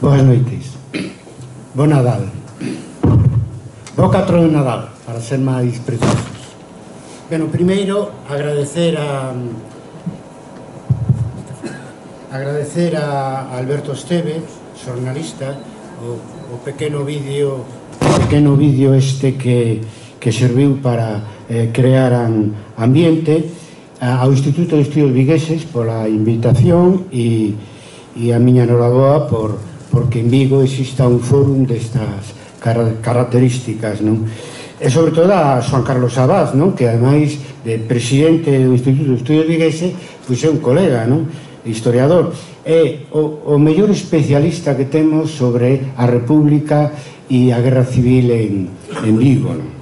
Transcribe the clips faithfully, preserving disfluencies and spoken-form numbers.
Boas noites. Bo Nadal. Bo catro de Nadal, para ser máis precisos. Bueno, primeiro, agradecer a agradecer a Alberto Esteve, xornalista, o, o pequeno vídeo o pequeno vídeo este que, que serviu para eh, crear an ambiente, ao Instituto de Estudios Vigueses pola invitación e, e a miña enhoraboa por, porque en Vigo exista un fórum destas car características, non? E sobre todo a Juan Carlos Abad, non? Que ademais de presidente do Instituto de Estudios Vigueses, pois é un colega, non? Historiador, é o, o mellor especialista que temos sobre a República e a Guerra Civil en, en Vigo, non?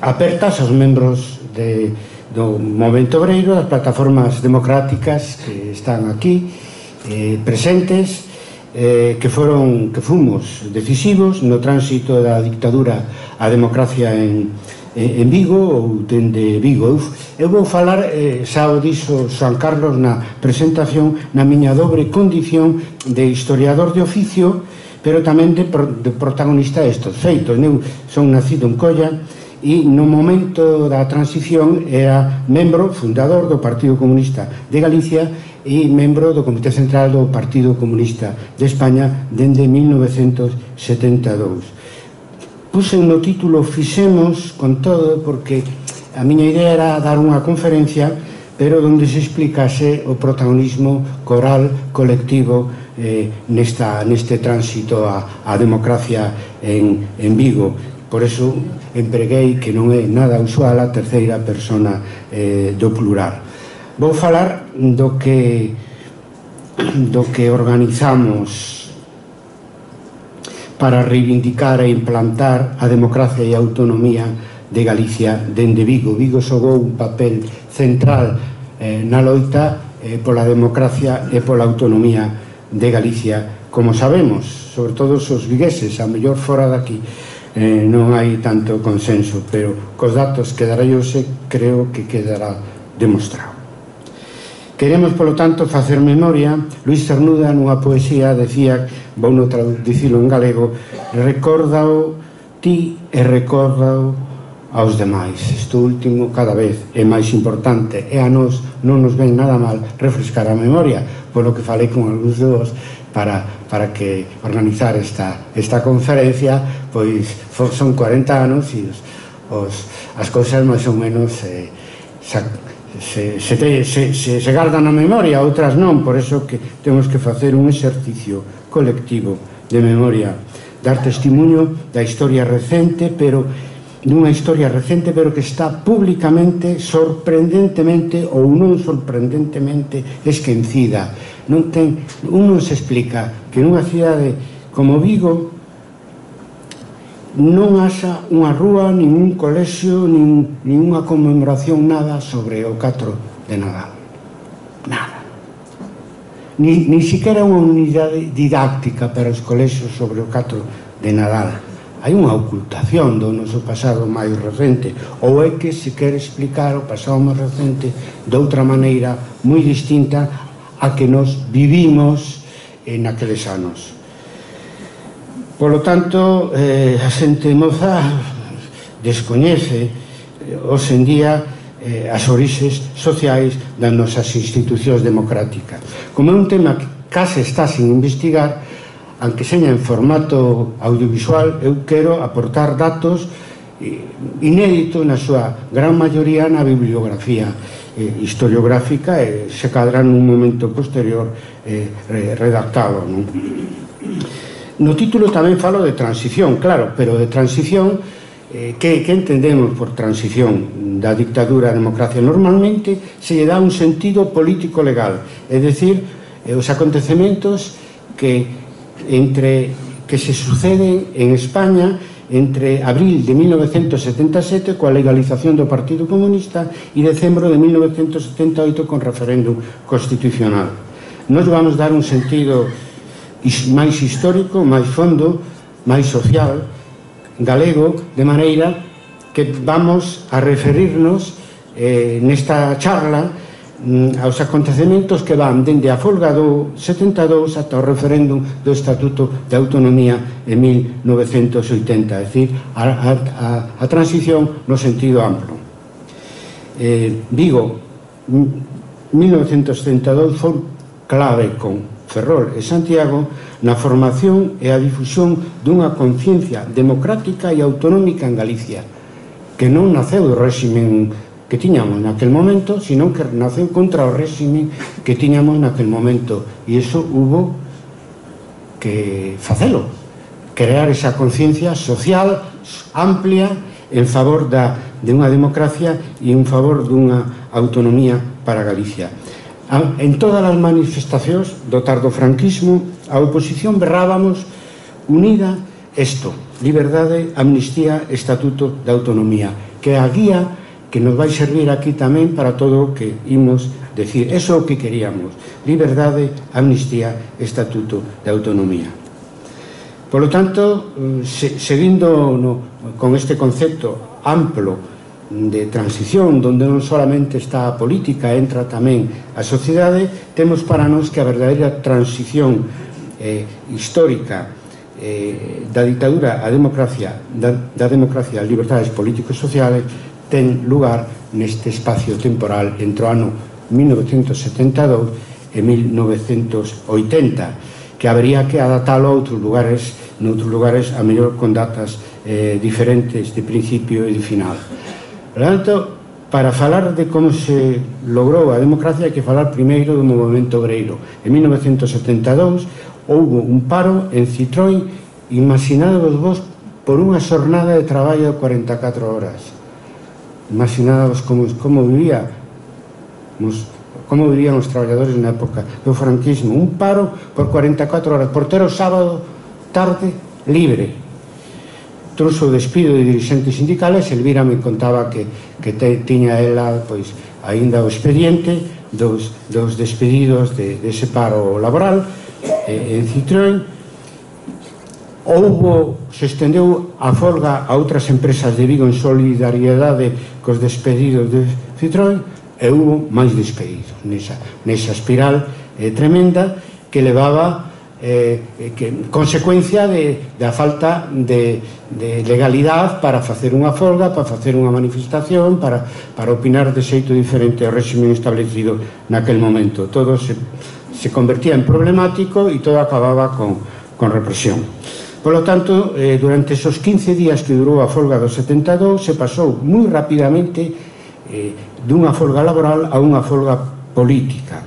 Apertas aos membros de, do Movemento Obreiro, das plataformas democráticas que están aquí eh, presentes, eh, que foron que fomos decisivos no tránsito da dictadura á democracia en en Vigo ou dende Vigo. Eu vou falar, eh, xa o dixo Juan Carlos na presentación, na miña dobre condición de historiador de oficio, pero tamén de, de protagonista destes feitos. Eu son nacido en Colla e no momento da transición era membro fundador do Partido Comunista de Galicia e membro do Comité Central do Partido Comunista de España dende mil novecentos setenta e dous. Puse no título Fixemos con todo porque a miña idea era dar unha conferencia pero onde se explicase o protagonismo coral, colectivo eh, nesta, neste tránsito á, á democracia en, en Vigo. Por eso empreguei, que non é nada usual, a terceira persona eh, do plural. Vou falar do que do que organizamos para reivindicar e implantar a democracia e a autonomía de Galicia dende Vigo. Vigo xogou un papel central eh, na loita eh, pola democracia e pola autonomía de Galicia, como sabemos, sobre todo os vigueses, a mellor fora daqui eh, non hai tanto consenso, pero cos datos que darei hoxe creo que quedará demostrado. Queremos, polo tanto, facer memoria. Luis Cernuda, nunha poesía, decía, vou non traducilo en galego, recórdao ti e recórdao aos demais. Isto último cada vez é máis importante e a nós non nos ven nada mal refrescar a memoria, polo que falei con algúns de vos para, para que organizar esta, esta conferencia, pois son cuarenta anos e os, os, as cousas máis ou menos eh, xa, Se, se, te, se, se, se gardan na memoria, outras non, por eso que temos que facer un exercicio colectivo de memoria, dar testimonio da historia recente, pero dunha historia recente, pero que está públicamente, sorprendentemente ou non sorprendentemente esquecida. Non ten, un non se explica que nunha cidade como Vigo non haxa unha rúa, nin un colexio, nin, nin unha conmemoración, nada sobre o catro de Nadal. Nada. Ni, ni siquiera unha unidade didáctica para os colexios sobre o catro de Nadal. Hai unha ocultación do noso pasado máis recente, ou é que se quere explicar o pasado máis recente de outra maneira moi distinta a que nos vivimos en aqueles anos. Polo tanto, eh, a xente moza descoñece eh, hoxe en día eh, as orixes sociais das nosas institucións democráticas. Como é un tema que case está sin investigar, aunque seña en formato audiovisual, eu quero aportar datos eh, inéditos na súa gran maioría na bibliografía eh, historiográfica e se cadra nun momento posterior eh, redactado, non? No título tamén falo de transición, claro, pero de transición, eh, que, que entendemos por transición da dictadura á democracia? Normalmente se lle dá un sentido político-legal, é dicir, eh, os acontecementos que, entre, que se suceden en España entre abril de mil novecentos setenta e sete coa legalización do Partido Comunista e decembro de mil novecentos setenta e oito con referéndum constitucional. Nos vamos dar un sentido máis histórico, máis fondo, máis social, galego, de maneira que vamos a referirnos eh, nesta charla aos acontecementos que van dende a folga do setenta e dous ata o referéndum do Estatuto de Autonomía en mil novecentos oitenta, é dicir, a, a, a transición no sentido amplo. Eh, Vigo, mil novecentos setenta e dous, foi clave con Ferrol e Santiago na formación e a difusión dunha conciencia democrática e autonómica en Galicia, que non naceu do réximen que tiñamos naquel momento, sino que naceu contra o réximen que tiñamos naquel momento, e iso hubo que facelo, crear esa conciencia social amplia en favor da, de unha democracia e en favor dunha autonomía para Galicia. En todas as manifestacións do tardofranquismo, a oposición berrábamos unida isto: liberdade, amnistía, estatuto de autonomía, que é a guía que nos vai servir aquí tamén para todo o que imos decir. Eso é o que queríamos: liberdade, amnistía, estatuto de autonomía. Por lo tanto, se, seguindo no, con este concepto amplo de transición, onde non solamente está a política, entra tamén a sociedade, temos para nós que a verdadeira transición eh, histórica eh, da ditadura á democracia, da, da democracia ás libertades políticos e sociales, ten lugar neste espacio temporal entre o ano mil novecentos setenta e dous e mil novecentos oitenta, que habería que adaptalo a outros lugares, noutros lugares a mellor con datas eh, diferentes de principio e de final. Por tanto, para falar de como se logrou a democracia hai que falar primeiro do movimento obreiro. En mil novecentos setenta e dous houve un paro en Citroën, imaginadvos vos, por unha xornada de traballo de cuarenta e catro horas. Imaginadvos como, como vivía como vivían os traballadores na época do franquismo. Un paro por cuarenta e catro horas, por ter o sábado tarde libre. Trouxo o despido de dirigentes sindicales. Elvira me contaba que, que te, tiña ela pois aínda o expediente dos, dos despedidos de, de ese paro laboral eh, en Citroën. Houbo, se estendeu a folga a outras empresas de Vigo en solidariedade cos despedidos de Citroën, e houbo máis despedidos nesa, nesa espiral eh, tremenda que levaba eh, que, consecuencia de, da falta de, de legalidade para facer unha folga, para facer unha manifestación, para, para opinar de xeito diferente ao régimen establecido naquel momento. Todo se, se convertía en problemático e todo acababa con, con represión. Por lo tanto, eh, durante esos quince días que durou a folga do setenta e dous, se pasou moi rapidamente eh, dunha folga laboral a unha folga política,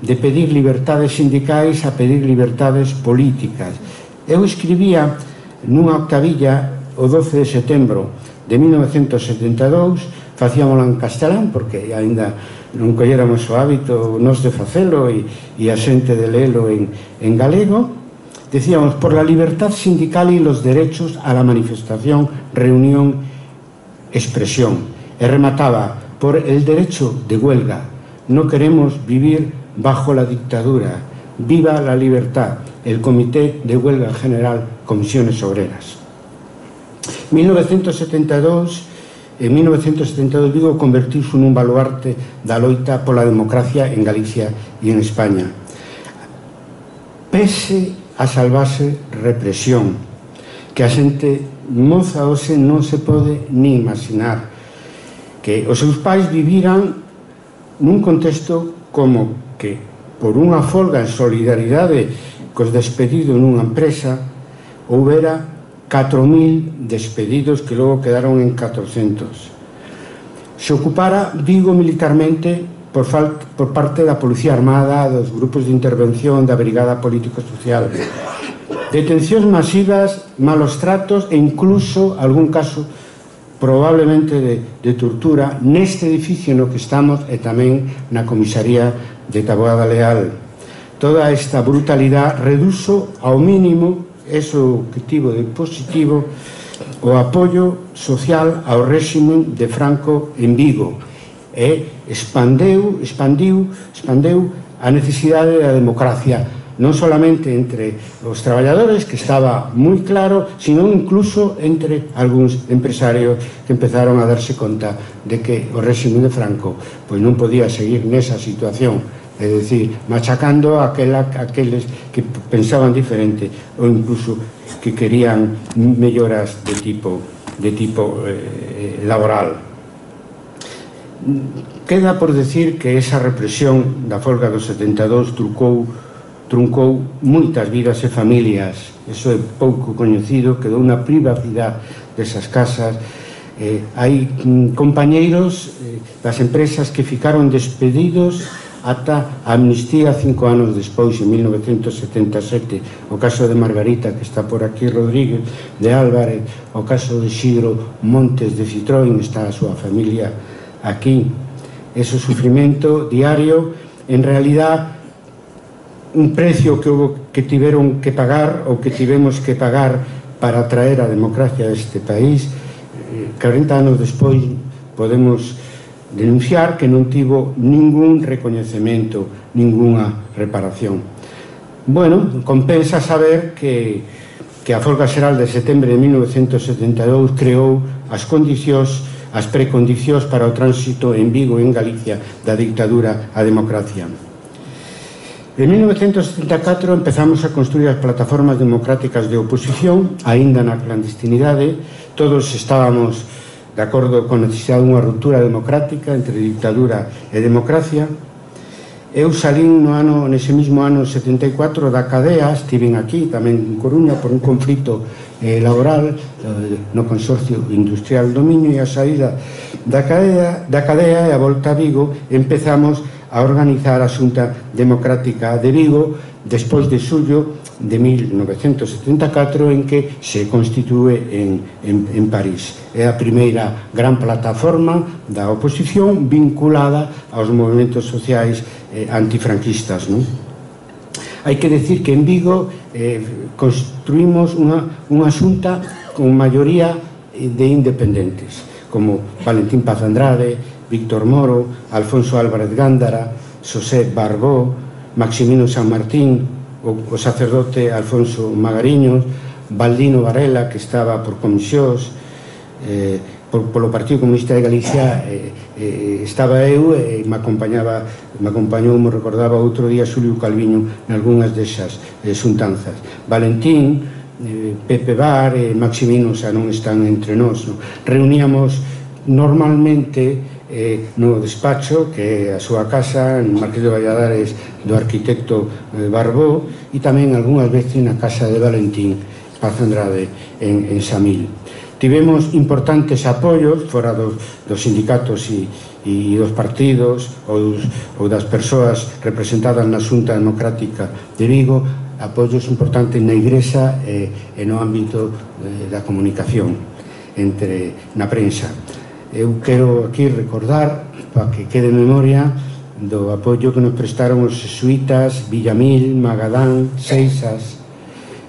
de pedir libertades sindicais a pedir libertades políticas. Eu escribía nunha octavilla o doce de setembro de mil novecentos setenta e dous, facíamolo en castelán porque aínda non colléramos o hábito nos de facelo e, e a xente de lelo en, en galego. Decíamos: por la libertad sindical y los derechos a la manifestación, reunión, expresión. E remataba: por el derecho de huelga. No queremos vivir bajo la dictadura. Viva la libertad. El Comité de Huelga General, Comisiones Obreras. mil novecentos setenta e dous, en mil novecentos setenta e dous Vigo convertiuse nun baluarte da loita pola democracia en Galicia e en España. Pese a salvarse represión que a xente moza hoxe non se pode ni imaginar, que os seus pais viviran nun contexto como que por unha folga en solidaridade cos despedidos nunha empresa houbera catro mil despedidos que logo quedaron en catrocentos. Se ocupara Vigo militarmente por, por parte da Policía Armada, dos grupos de intervención da Brigada Político-Social. Detencións masivas, malos tratos e incluso algún caso probablemente de, de tortura neste edificio no que estamos e tamén na comisaría de Taboada Leal. Toda esta brutalidade reduzo ao mínimo, eso que tivo de positivo, o apoio social ao réximen de Franco en Vigo, e expandeu, expandiu, expandeu a necesidade da democracia non solamente entre os traballadores, que estaba moi claro, sino incluso entre algúns empresarios que empezaron a darse conta de que o réxime de Franco pois non podía seguir nesa situación, é dicir, machacando a aqueles que pensaban diferente ou incluso que querían melloras de tipo, de tipo eh, laboral. Queda por decir que esa represión da folga do setenta e dous trucou, truncou moitas vidas e familias. Eso é pouco coñecido, quedou unha privacidade desas casas. Eh, hai mm, compañeiros eh, das empresas que ficaron despedidos ata a amnistía cinco anos despois, en mil novecentos setenta e sete, o caso de Margarita, que está por aquí, Rodríguez de Álvarez, o caso de Xidro Montes de Citroën, está a súa familia aquí. Ese sufrimento diario, en realidad, un precio que, hubo, que tiveron que pagar ou que tivemos que pagar para traer a democracia a este país, eh, cuarenta anos despois podemos denunciar que non tivo ningún recoñecemento, ninguna reparación. Bueno, compensa saber que, que a folga xeral de setembro de mil novecentos setenta e dous creou as condicións, as precondicións para o tránsito en Vigo e en Galicia da dictadura á democracia. En mil novecentos setenta e catro empezamos a construir as plataformas democráticas de oposición, aínda na clandestinidade. Todos estábamos de acordo con a necesidade dunha ruptura democrática entre dictadura e democracia. Eu salín no ano, nese mismo ano setenta e catro da cadea, estiven aquí tamén en Coruña por un conflito eh, laboral eh, no Consorcio Industrial do Miño, e a saída da cadea, da cadea e a volta a Vigo empezamos a organizar a Xunta Democrática de Vigo despois de xullo de mil novecentos setenta e catro, en que se constitúe en, en, en París. É a primeira gran plataforma da oposición vinculada aos movimentos sociais eh, antifranquistas, non? Hai que decir que en Vigo eh, construímos unha, unha xunta con maioría de independentes, como Valentín Paz Andrade, Víctor Moro, Alfonso Álvarez Gándara, Xosé Barbó, Maximino San Martín, o, o sacerdote Alfonso Magariños, Baldino Varela, que estaba por comisións, eh, por, polo Partido Comunista de Galicia, eh, eh, estaba eu e me acompañaba, me acompañou, me recordaba outro día, Xulio Calviño, en algunhas desas eh, xuntanzas. Valentín, eh, Pepe Bar e Maximino xa non están entre nós, no? Reuníamos normalmente eh, no despacho, que é a súa casa, en Marqués de Valladares, do arquitecto eh, Barbó, e tamén algunhas veces na casa de Valentín Paz Andrade en, en Samil. Tivemos importantes apoios fora dos, dos sindicatos e, e dos partidos ou, ou das persoas representadas na Xunta Democrática de Vigo, apoios importantes na Igrexa e, e no ámbito eh, da comunicación entre na prensa. Eu quero aquí recordar, para que quede memoria, do apoio que nos prestaron os jesuítas, Villamil, Magadán, Seixas,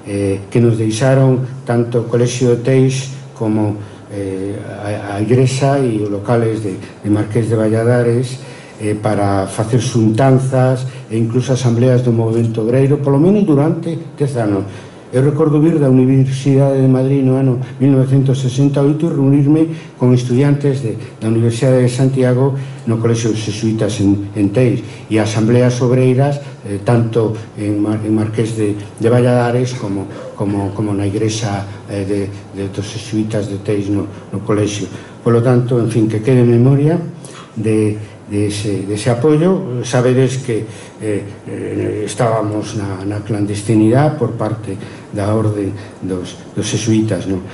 eh, que nos deixaron tanto o Colexio de Teix como eh, a, a Igrexa e os locales de, de Marqués de Valladares eh, para facer xuntanzas e incluso asambleas do movimento obreiro, polo menos durante dez anos. Eu recordo vir da Universidade de Madrid no ano mil novecentos sesenta e oito e reunirme con estudiantes de, da Universidade de Santiago no Colexio dos Jesuítas en, en Teix, e asambleas obreiras eh, tanto en, Mar, en Marqués de, de Valladares como, como, como na Igrexa eh, de, de dos Jesuítas de Teix no, no Colexio. Por lo tanto, en fin, que quede memoria de de ese, de ese apoio. Sabedes que eh, eh, estábamos na, na clandestinidade por parte da orde dos, dos jesuítas, non?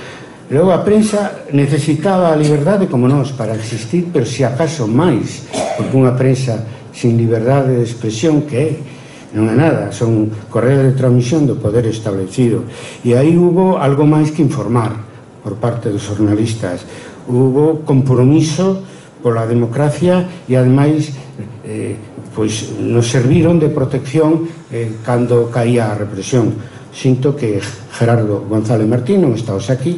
Logo a prensa necesitaba a liberdade como nós para existir, pero se acaso máis, porque unha prensa sin liberdade de expresión, que é, non é nada, son correos de transmisión do poder establecido. E aí hubo algo máis que informar por parte dos xornalistas. Hubo compromiso pola democracia e, ademais, eh, pois nos serviron de protección eh, cando caía a represión. Sinto que Gerardo González Martín non está hoxe aquí,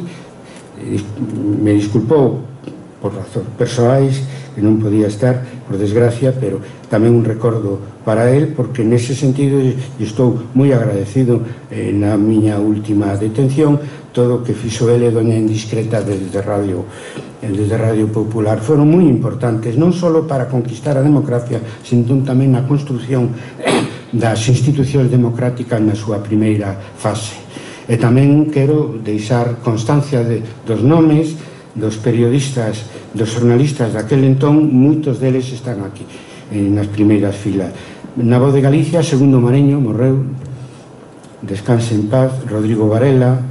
me disculpou por razóns persoais que non podía estar, por desgracia, pero tamén un recordo para él, porque nese sentido estou moi agradecido eh, na miña última detención todo o que fixo ele doña Indiscreta desde Radio, desde Radio Popular. Foron moi importantes, non só para conquistar a democracia, sino tamén na construción das institucións democráticas na súa primeira fase. E tamén quero deixar constancia de, dos nomes dos periodistas, dos jornalistas daquel entón, moitos deles están aquí, nas primeiras filas. Na Voz de Galicia, Segundo Mareño, morreu, descanse en paz, Rodrigo Varela,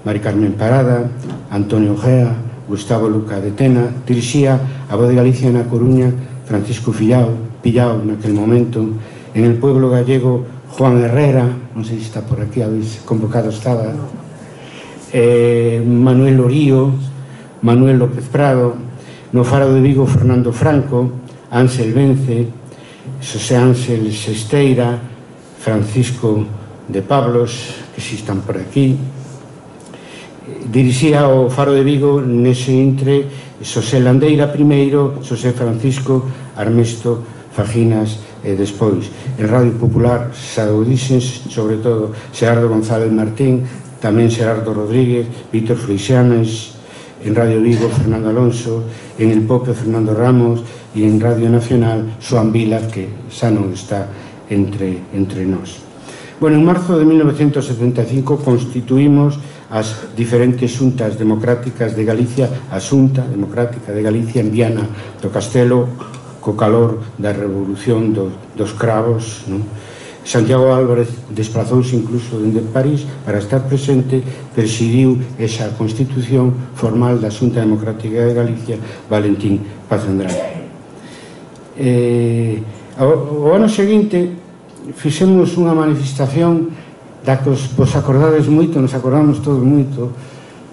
Mari Carmen Parada, Antonio Gea, Gustavo Luca de Tena, dirixía a Voz de Galicia na Coruña, Francisco Fillao, Pillao naquel momento, en el pueblo gallego, Juan Herrera, non sei se está por aquí, habéis convocado estaba, eh, Manuel Orío, Manuel López Prado, no Faro de Vigo, Fernando Franco, Ángel Vence, Xosé Ángel Sesteira, Francisco de Pablos, que si están por aquí. Dirixía o Faro de Vigo nese intre Xosé Landeira primeiro, Xosé Francisco Armesto Faginas e despois. En Radio Popular, saudísens, sobre todo Xerardo González Martín, tamén Xerardo Rodríguez, Víctor Freixanes, en Radio Vigo, Fernando Alonso, en El Pope, Fernando Ramos, e en Radio Nacional, Xoan Vila, que xa non está entre, entre nós. Bueno, en marzo de mil novecientos setenta e cinco constituímos as diferentes xuntas democráticas de Galicia, a Xunta Democrática de Galicia en Viana do Castelo, co calor da revolución dos, dos cravos, non? Santiago Álvarez desplazouse incluso dende París para estar presente, presidiu esa constitución formal da Xunta Democrática de Galicia, Valentín Paz Andrade. Eh, o, o ano seguinte fixemos unha manifestación da que vos acordades moito, nos acordamos todos moito,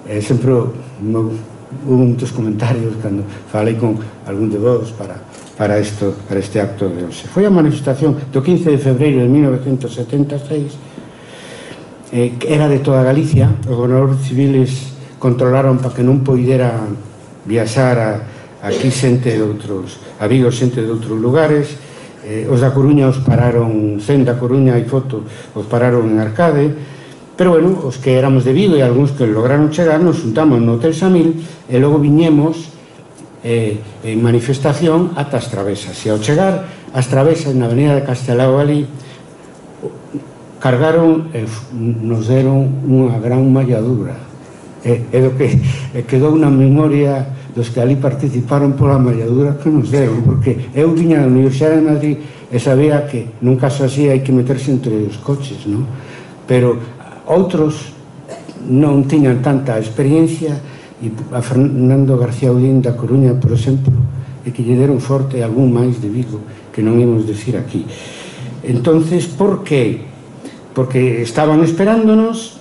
eh, sempre no, hubo moitos comentarios cando falei con algún de vos para para, esto, para este acto de hoxe. Foi a manifestación do quince de febreiro de mil novecientos setenta e seis, eh, que era de toda Galicia. Os gobernadores civiles controlaron para que non poideran viaxar a, aquí xente de outros, a Vigo xente de outros lugares. Eh, os da Coruña os pararon, cen da Coruña, hai foto, os pararon en Arcade, pero bueno, os que éramos de Vigo e algúns que lograron chegar, nos juntamos no Hotel Samil e logo viñemos Eh, en manifestación ata as travesas, e ao chegar as travesas na avenida de Castelao ali cargaron e nos deron unha gran malladura, e, e do que e quedou na memoria dos que ali participaron pola malladura que nos deron, porque eu viña da Universidade de Madrid e sabía que nun caso así hai que meterse entre os coches, non? Pero outros non tiñan tanta experiencia, e a Fernando García Udín da Coruña, por exemplo, e que lle deron forte algún máis de Vigo que non imos decir aquí. Entonces, por que? Porque estaban esperándonos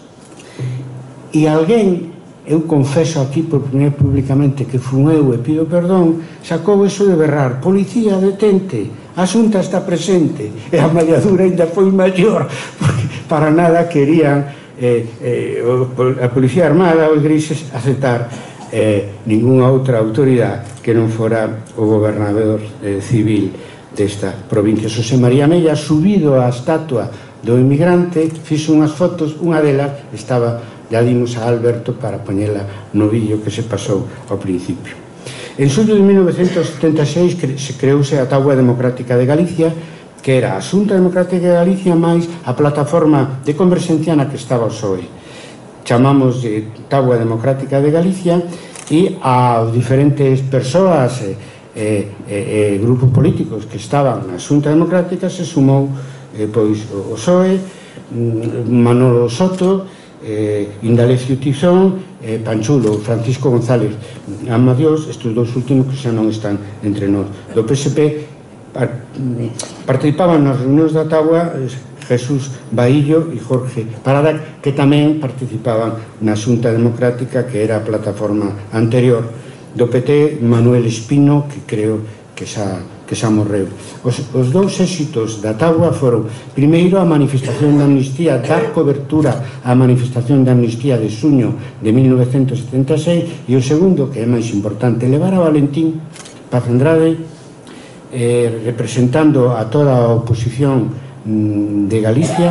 e alguén, eu confeso aquí por primeiro públicamente que fun eu e pido perdón, sacou eso de berrar: policía, detente, a Xunta está presente, e a malladura ainda foi maior, porque para nada querían Eh, eh, a Policía Armada, os grises, aceptar eh, ninguna outra autoridade que non fora o gobernador eh, civil desta provincia. Xosé María Mella, subido á estatua do inmigrante, fixo unhas fotos, unha delas estaba, ya dimos a Alberto para poñela no vídeo que se pasou ao principio. En xullo de mil novecientos setenta e seis se creouse a Táboa Democrática de Galicia, que era a Xunta Democrática de Galicia máis a plataforma de converxencia na que estaba o P S O E. Chamamos de Táboa Democrática de Galicia, e aos diferentes persoas e, e, e, e grupos políticos que estaban na Xunta Democrática se sumou eh, pois o P S O E, Manolo Soto, eh, Indalecio Tizón, eh, Panchulo, Francisco González Amadiós, estes dous últimos que xa non están entre nós. Do P S P participaban nas reunións da Táboa Jesús Baillo e Jorge Parada, que tamén participaban na Xunta Democrática, que era a plataforma anterior. Do P T, Manuel Espino, que creo que xa, que xa morreu. Os, os dous éxitos da Táboa foron, primeiro, a manifestación de amnistía, dar cobertura á manifestación de amnistía de xuño de mil novecientos setenta e seis, e o segundo, que é máis importante, levar a Valentín Paz Andrade, eh, representando a toda a oposición mm, de Galicia,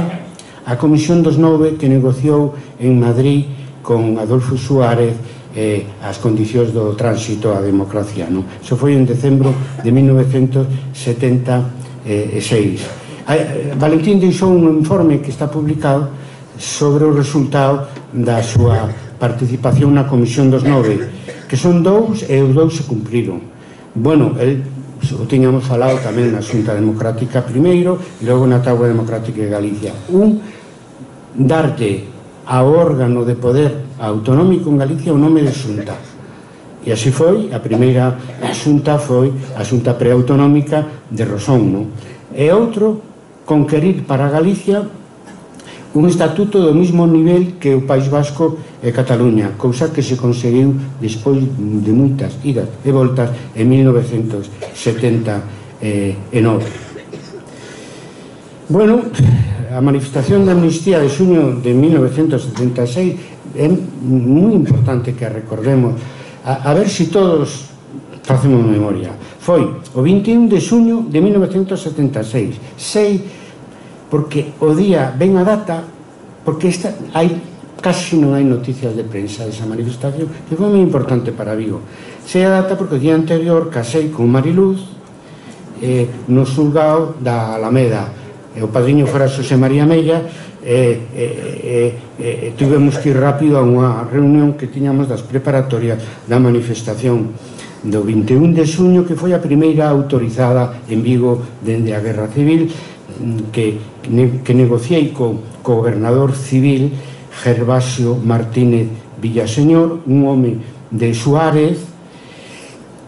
a Comisión dos Nove que negociou en Madrid con Adolfo Suárez eh, as condicións do tránsito á democracia, non? Iso foi en decembro de mil novecentos setenta e seis. Eh, Valentín deixou un informe que está publicado sobre o resultado da súa participación na Comisión dos Nove, que son dous e os dous se cumpriron. Bueno, el o tiñamos falado tamén na Xunta Democrática primeiro e logo na Táboa Democrática de Galicia. Un, darte ao órgano de poder autonómico en Galicia o nome de Xunta. E así foi, a primeira Xunta foi a Xunta Preautonómica de Rosón, non? E outro, conquerir para Galicia un estatuto do mesmo nivel que o País Vasco e Cataluña, cousa que se conseguiu despois de moitas idas e voltas en mil novecentos setenta e nove. Bueno, a manifestación de amnistía de xuño de mil novecentos setenta e seis é moi importante que a recordemos, a, a ver se si todos facemos memoria. Foi o vinte e un de xuño de mil novecentos setenta e seis. Sei porque o día ven a data, porque esta, hai, casi non hai noticias de prensa desa manifestación, que foi moi importante para Vigo. Sei a data porque o día anterior casei con Mariluz eh, no xulgado da Alameda. E o padriño fora Xosé María Mella e, e, e, e tivemos que ir rápido a unha reunión que tiñamos das preparatorias da manifestación do vinte e un de xuño, que foi a primeira autorizada en Vigo dende a Guerra Civil, que, que negociei co, co gobernador civil Gervasio Martínez Villaseñor, un home de Suárez,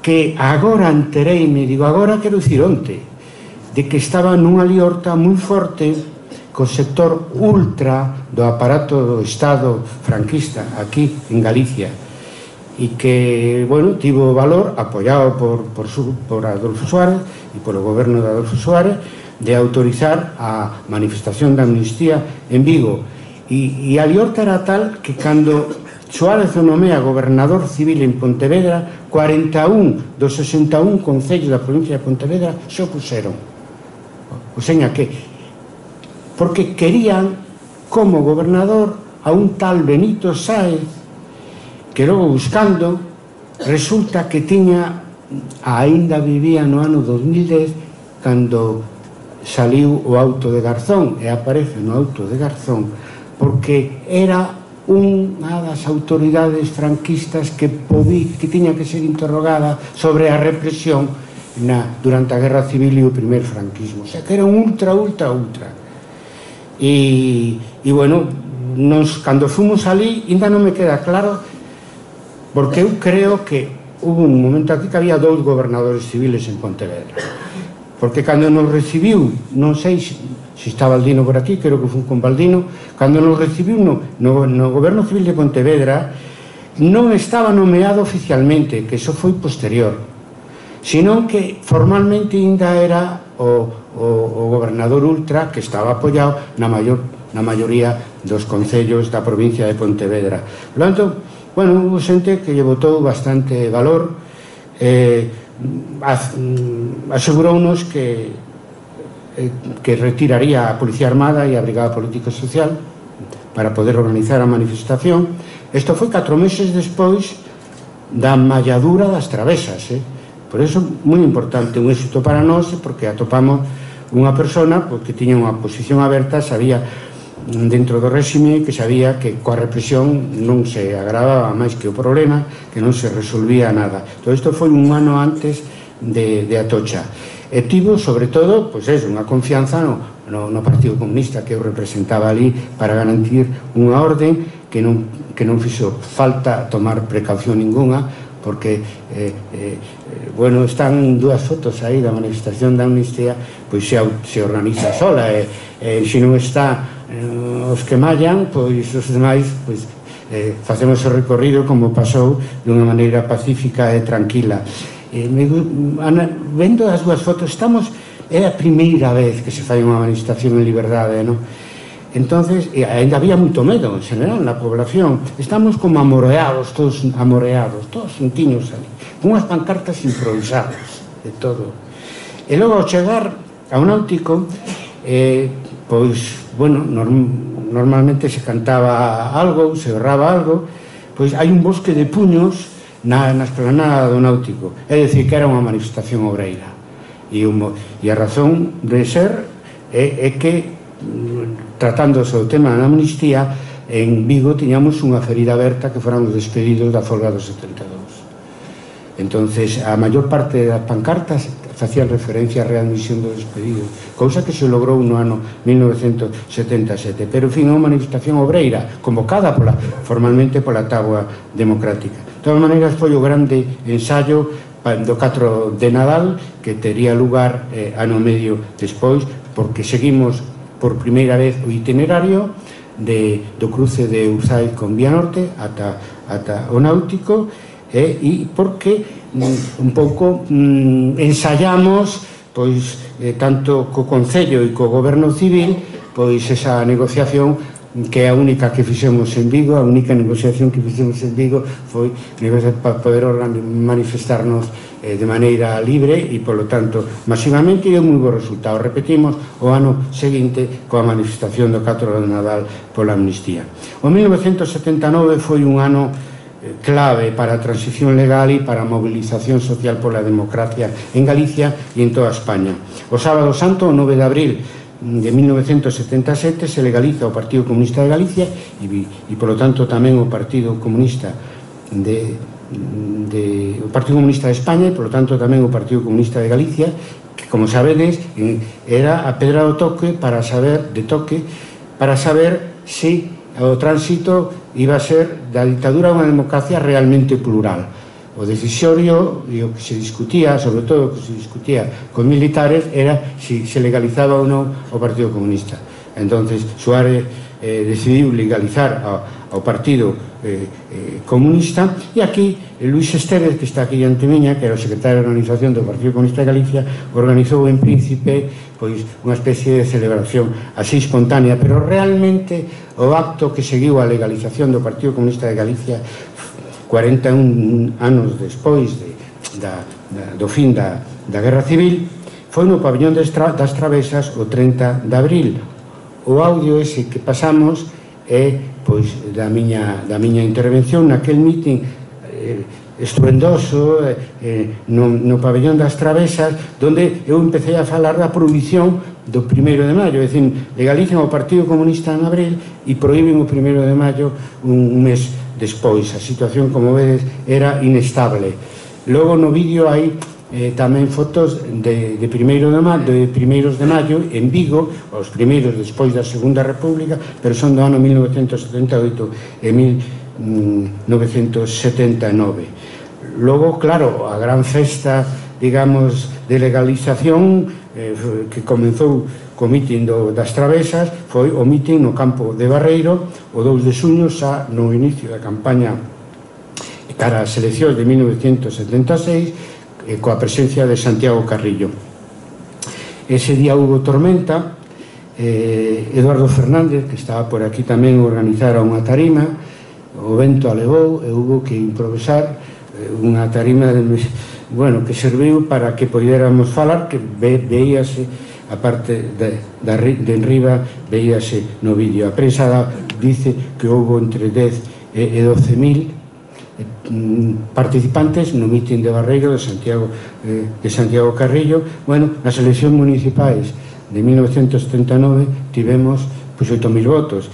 que agora entereime, digo, agora quero dicir onte, de que estaba nunha liorta moi forte co sector ultra do aparato do Estado franquista aquí en Galicia, e que, bueno, tivo valor, apoiado por, por, por Adolfo Suárez e polo goberno de Adolfo Suárez, de autorizar a manifestación de amnistía en Vigo. E, e a liorta era tal que cando Suárez o nomea gobernador civil en Pontevedra, cuarenta e un dos sesenta e un concellos da provincia de Pontevedra se opuseron. O seña que, porque querían como gobernador a un tal Benito Sáez, que logo buscando resulta que tiña, aínda vivía no ano dos mil dez, cando saliu o auto de Garzón, e aparece no auto de Garzón, porque era unha das autoridades franquistas que, podí, que tiña que ser interrogada sobre a represión na, durante a Guerra Civil e o primer franquismo. O sea, que era un ultra, ultra, ultra. E, e bueno, nos, cando fomos ali, ainda non me queda claro, porque eu creo que hubo un momento aquí que había dous gobernadores civiles en Pontevedra. Porque cando nos recibiu, non sei se, se está Baldino por aquí, creo que foi con Baldino, cando nos recibiu no, no, no goberno civil de Pontevedra, non estaba nomeado oficialmente, que iso foi posterior, senón que formalmente ainda era o, o, o gobernador ultra, que estaba apoiado na, mayor, na maioría dos concellos da provincia de Pontevedra. Por lo tanto, bueno, hubo xente que lle botou bastante valor, eh, asegurounos que que retiraría a Policía Armada e a Brigada Política Social para poder organizar a manifestación. Isto foi catro meses despois da malladura das travesas, eh? Por iso, moi importante, un éxito para nós, porque atopamos unha persona que tiña unha posición aberta, sabía dentro do réxime, que sabía que coa represión non se agravaba máis que o problema, que non se resolvía nada. Todo isto foi un ano antes de, de Atocha. E tivo, sobre todo, pois eso, unha confianza no, no, no Partido Comunista que eu representaba ali para garantir unha orden que non, que non fixo falta tomar precaución ninguna, porque eh, eh, bueno, están dúas fotos aí da manifestación da amnistía, pois se, se organiza sola, e eh, se non está os que mallan, pois os demais pois, eh, facemos o recorrido como pasou dunha maneira pacífica e tranquila. Eh, me, ana, vendo as dúas fotos, estamos, é a primeira vez que se fai unha manifestación en liberdade, non? entonces, e ainda había moito medo en general na población, estamos como amoreados, todos amoreados, todos xuntiños ali, con unhas pancartas improvisadas de todo. E logo ao chegar ao náutico, eh, pois, bueno, norm, normalmente se cantaba algo, se berraba algo, pois hai un bosque de puños na, na esplanada do náutico, é dicir, que era unha manifestación obreira. E, un, e a razón de ser é, é que, tratándose do tema da amnistía, en Vigo tiñamos unha ferida aberta que foran os despedidos da folga do setenta e dous. Entonces, a maior parte das pancartas facían referencia á readmisión dos despedidos, cousa que se logrou no ano mil novecentos setenta e sete, pero, en fin, é unha manifestación obreira, convocada pola, formalmente pola táboa democrática. De todas maneiras, foi o grande ensayo do catro de Nadal, que tería lugar eh, ano medio despois, porque seguimos por primeira vez o itinerario de, do cruce de Urzaiz con Vía Norte ata, ata o náutico, eh, e porque mm, un pouco mm, ensayamos pois eh, tanto co Concello e co Goberno Civil pois esa negociación que é a única que fixemos en Vigo. A única negociación que fixemos en Vigo foi para poder manifestarnos eh, de maneira libre e, polo tanto, masivamente, e deu moi bo resultado. Repetimos o ano seguinte coa manifestación do catro de Nadal pola amnistía. O mil novecentos setenta e nove foi un ano clave para a transición legal e para a movilización social pola democracia en Galicia e en toda España. O sábado santo, o nove de abril de mil novecentos setenta e sete, se legaliza o Partido Comunista de Galicia e, e polo tanto tamén o Partido Comunista de, de o Partido Comunista de España e polo tanto tamén o Partido Comunista de Galicia, que, como sabedes, era a pedra do toque para saber de toque para saber se o tránsito iba a ser da dictadura a unha democracia realmente plural. O decisorio e o que se discutía, sobre todo o que se discutía con militares, era se se legalizaba ou non o Partido Comunista. Entonces Suárez eh, decidiu legalizar ao, ao Partido eh, eh, Comunista, e aquí Luís Estévez, que está aquí ante miña, que era o secretario de organización do Partido Comunista de Galicia, organizou en Príncipe pois unha especie de celebración así espontánea, pero realmente o acto que seguiu a legalización do Partido Comunista de Galicia cuarenta e un anos despois de, da, da, do fin da, da Guerra Civil foi no pabellón das, tra, das Travesas o trinta de abril. O audio ese que pasamos é pois da miña, da miña intervención naquel mitin eh, estruendoso eh, no, no pabellón das Travesas, donde eu empecé a falar da prohibición do primeiro de maio, é dicir, legalizan o Partido Comunista en abril e prohíben o primeiro de maio un mes despois. A situación, como vedes, era inestable. Logo no vídeo hai eh, tamén fotos de, de, primeiro de, maio, de primeiros de maio en Vigo, os primeiros despois da Segunda República, pero son do ano mil novecentos setenta e oito e mil novecentos setenta e nove. Logo, claro, a gran festa, digamos, de legalización eh, que comenzou co mitin do, das Travesas foi o mitin no campo de Barreiro o dous de xuño, xa no inicio da campaña cara ás eleccións de mil novecentos setenta e seis, eh, coa presencia de Santiago Carrillo. Ese día hubo tormenta. eh, Eduardo Fernández, que estaba por aquí tamén, organizara unha tarima. O vento alevou e hubo que improvisar eh, unha tarima de, bueno, que serviu para que podéramos falar, que ve, veíase a parte de, de, de enriba, veíase no vídeo. A prensa da, dice que houve entre dez e doce mil eh, participantes no mitin de Barreiro de Santiago, eh, de Santiago Carrillo. Bueno, nas eleccións municipais de mil novecentos setenta e nove tivemos pois oito mil votos.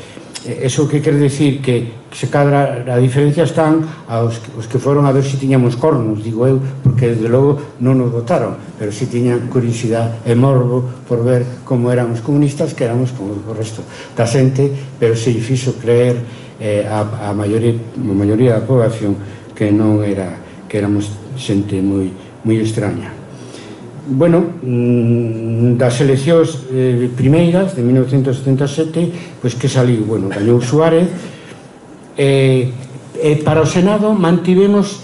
Eso que quer decir que se cadra a diferencia están aos os que foron a ver se tiñamos cornos, digo eu, porque desde logo non nos votaron, pero si tiñan curiosidade e morbo por ver como eran os comunistas, que éramos como o resto da xente, pero se fixo creer eh, a, a, maioría, a maioría da población que non era, que éramos xente moi, moi extraña. Bueno, das eleccións eh, primeiras de mil novecentos setenta e sete, pois que saliu, bueno, gañou Suárez, e, e para o Senado mantivemos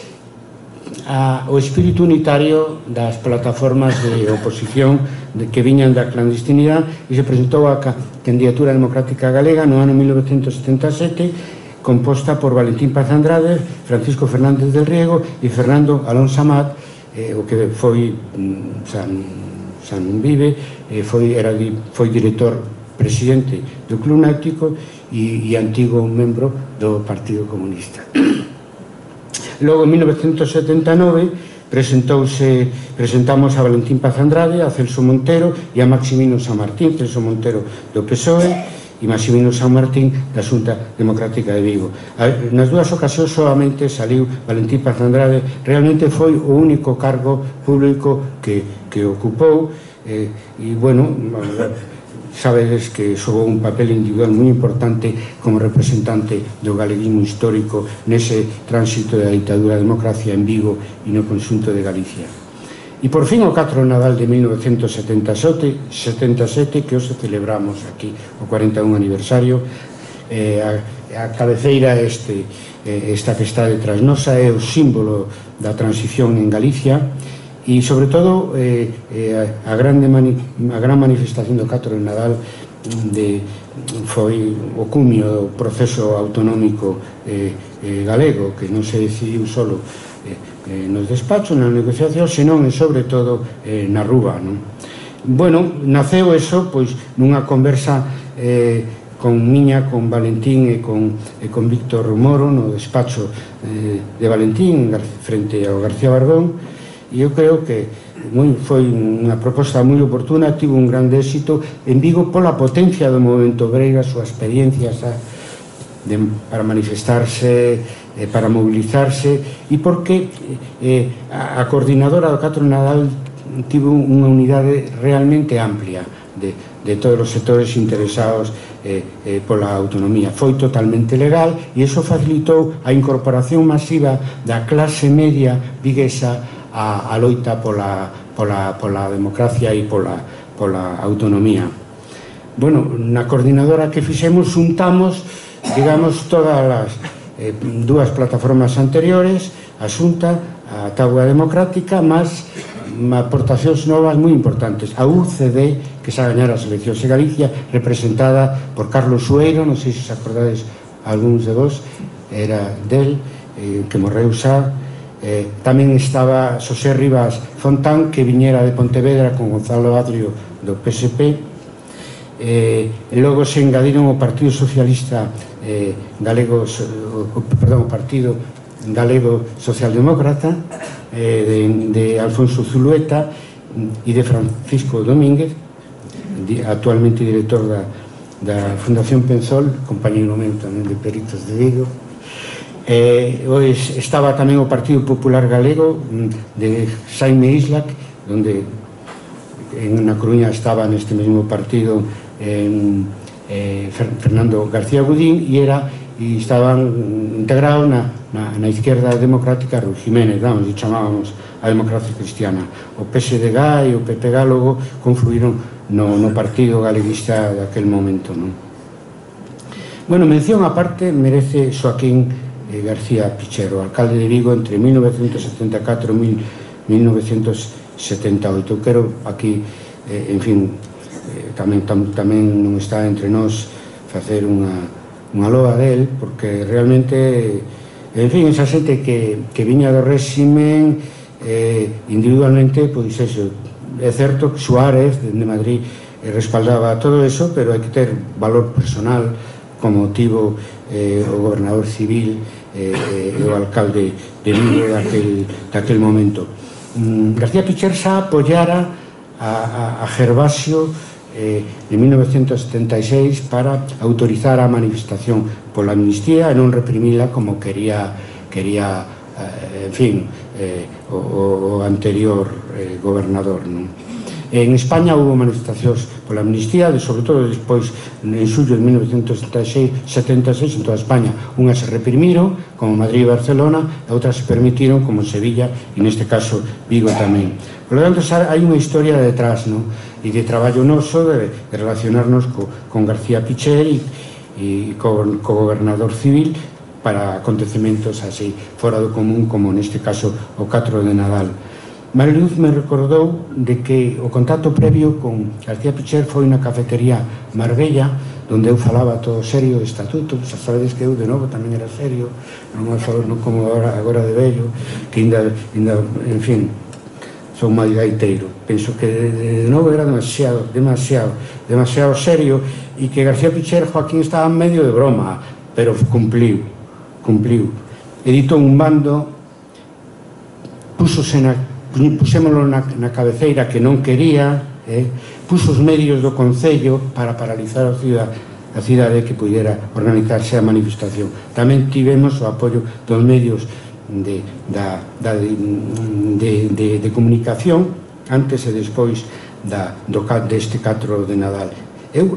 a, o espírito unitario das plataformas de oposición de, que viñan da clandestinidade, e se presentou a Candidatura Democrática Galega no ano mil novecentos setenta e sete, composta por Valentín Paz Andrade, Francisco Fernández del Riego e Fernando Alonso Amat, eh, o que foi San, San Vive, eh, foi, era, foi director presidente do Club Náutico e, e antigo membro do Partido Comunista. Logo, en mil novecentos setenta e nove, presentouse, presentamos a Valentín Paz Andrade, a Celso Montero e a Maximino San Martín, Celso Montero do P S O E e Maximino San Martín da Xunta Democrática de Vigo. Nas dúas ocasións solamente saliu Valentín Paz Andrade, realmente foi o único cargo público que, que ocupou, eh, e, bueno, sabedes que xogou un papel individual moi importante como representante do galeguismo histórico nese tránsito da ditadura da democracia en Vigo e no conxunto de Galicia. E por fin o catro de Nadal de mil novecentos setenta e sete, que hoxe celebramos aquí o cuarenta e un aniversario, eh, a, a cabeceira este, eh, esta que está detrás nosa é o símbolo da transición en Galicia, e sobre todo eh, eh, a, grande mani, a gran manifestación do catro de Nadal de, foi o cumio do proceso autonómico eh, eh, galego, que non se decidiu solo eh, eh, nos despachos, na negociación, senón e sobre todo eh, na rúa, non? Bueno, naceu eso pois nunha conversa eh, con miña, con Valentín e con, e con Víctor Moro no despacho eh, de Valentín frente ao García Barbón. E eu creo que moi, foi unha proposta moi oportuna, tivo un grande éxito en Vigo pola potencia do movimento obrero, a súa experiencia a, de, para manifestarse, eh, para mobilizarse, e porque eh, a, a coordinadora do catro de Nadal tivo unha unidade realmente amplia de, de todos os sectores interesados eh, eh, pola autonomía. Foi totalmente legal e iso facilitou a incorporación masiva da clase media viguesa a, a loita pola, pola, pola democracia e pola, pola autonomía. Bueno, na coordinadora que fixemos xuntamos, digamos, todas as eh, dúas plataformas anteriores, a Xunta, a Táboa Democrática, máis aportacións novas moi importantes. A U C D, que xa gañara as eleccións de Galicia, representada por Carlos Sueiro, non sei se se acordades algúns de vos, era del, eh, que morreu xa. Eh, tamén estaba Xosé Rivas Fontán, que viñera de Pontevedra con Gonzalo Adrio do P S P. Eh, e logo se engadiron o Partido Socialista eh, Galego, o, perdón, o Partido Galego Socialdemócrata, eh, de, de Alfonso Zulueta e de Francisco Domínguez, di, actualmente director da, da Fundación Penzol, compañeiro meu tamén de Peritos de Vigo. Eh, pois estaba tamén o Partido Popular Galego de Xaime Islac, onde en na Coruña estaba neste mesmo partido en, eh, Fernando García Gudín, e era e estaban integrados na, na, na izquierda democrática Rui Jiménez, vamos, e chamábamos a democracia cristiana. O P S D G e o P P G logo confluíron no, no partido galeguista daquel momento, non? Bueno, mención aparte merece Xoaquín García Pichero, alcalde de Vigo entre mil novecentos setenta e catro e mil novecentos setenta e oito. Quero aquí, eh, en fin, eh, tamén, tam, tamén non está entre nós facer unha, unha loa del, porque realmente, en fin, esa xente que, que viña do réximen eh, individualmente, pois eso, é certo que Suárez, de Madrid, eh, respaldaba todo eso, pero hai que ter valor personal, como tivo eh, o gobernador civil e eh, o alcalde de Vigo daquel, daquel momento. Mm, García Picher xa apoyara a, a, a Gervasio eh, en mil novecentos setenta e seis para autorizar a manifestación pola amnistía e non reprimila como quería, quería eh, en fin, eh, o, o anterior eh, gobernador, non? En España houve manifestacións pola amnistía, sobre todo despois, en xullo de mil novecentos setenta e seis, en toda España. Unhas se reprimiron, como Madrid e Barcelona, e outras se permitiron, como Sevilla, e neste caso Vigo tamén. Por lo tanto, hai unha historia detrás, non? E de traballo noso, de, de relacionarnos co, con García Picher e, e co, co gobernador civil, para acontecementos así fora do común, como neste caso o catro de Nadal. Mariluz me recordou de que o contacto previo con García Picher foi na cafetería Marbella, onde eu falaba todo serio de estatutos. Xa sabedes que eu de novo tamén era serio, non como agora, agora de vello, que ainda, ainda en fin, son máis gaiteiro. Penso que de, de novo era demasiado, demasiado, demasiado serio, e que García Picher, Joaquín, estaba en medio de broma, pero cumpliu, cumpliu. Editou un bando, pusose na, pusémolo na, na cabeceira que non quería, eh, puso os medios do Concello para paralizar a cidade, a cidade que pudera organizarse a manifestación. Tamén tivemos o apoio dos medios de, da, da, de, de, de, de comunicación antes e despois da, do, deste catro de Nadal. Eu,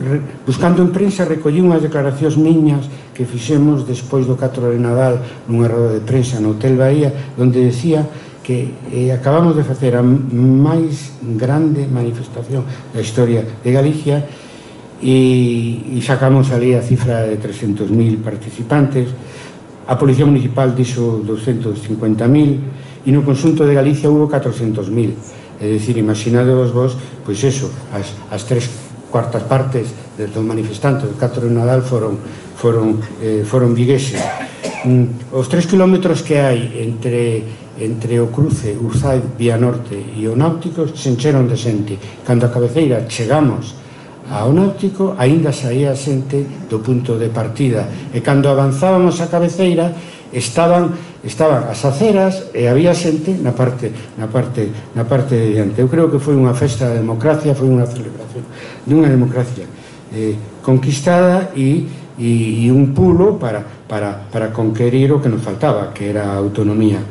buscando en prensa, recollí unhas declaracións miñas que fixemos despois do catro de Nadal nunha roda de prensa no Hotel Bahía, onde decía que eh, acabamos de facer a máis grande manifestación da historia de Galicia e, e sacamos ali a cifra de trescentos mil participantes. A Policía Municipal dixo doscientos cincuenta mil e no conxunto de Galicia hubo catrocentos mil. É dicir, imaginadevos vos, pois eso, as, as tres cuartas partes dos manifestantes do catro de Nadal foron, foron, eh, foron vigueses. Mm, os tres kilómetros que hai entre, entre o cruce Urzai, Vía Norte e o Náutico se encheron de xente. Cando a cabeceira chegamos ao Náutico, aínda saía xente do punto de partida, e cando avanzábamos a cabeceira estaban, estaban as aceras e había xente na parte, na parte, na parte de diante. Eu creo que foi unha festa da democracia, foi unha celebración dunha democracia eh, conquistada e, e, e un pulo para, para, para conquerir o que nos faltaba, que era a autonomía.